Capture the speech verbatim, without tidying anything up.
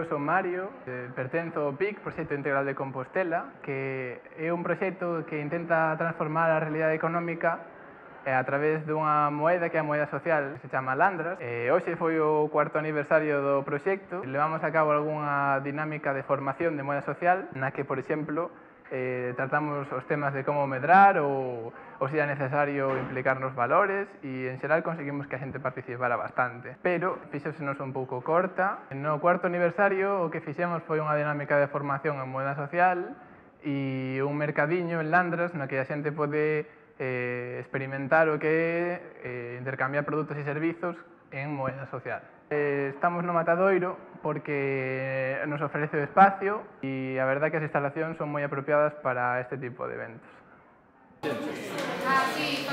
son Mario, eh, pertenzo ao P I C, Proxecto Integral de Compostela, que é un proxecto que intenta transformar a realidade económica eh, a través dunha moeda que é a moeda social, que se chama Landras. Eh, hoxe foi o cuarto aniversario do proxecto. Levamos a cabo algunha dinámica de formación de moeda social, na que, por exemplo, eh, tratamos os temas de como medrar ou, ou se é necesario implicar nos valores e, en xeral, conseguimos que a xente participara bastante. Pero fixésenos un pouco corta. No cuarto aniversario o que fixemos foi unha dinámica de formación en moeda social e un mercadiño en Landras no que a xente pode eh, experimentar o que é eh, intercambiar produtos e servizos en moeda social. Eh, estamos no Matadoiro porque nos ofrece o espacio e a verdad que as instalacións son moi apropiadas para este tipo de eventos. Ah, sí,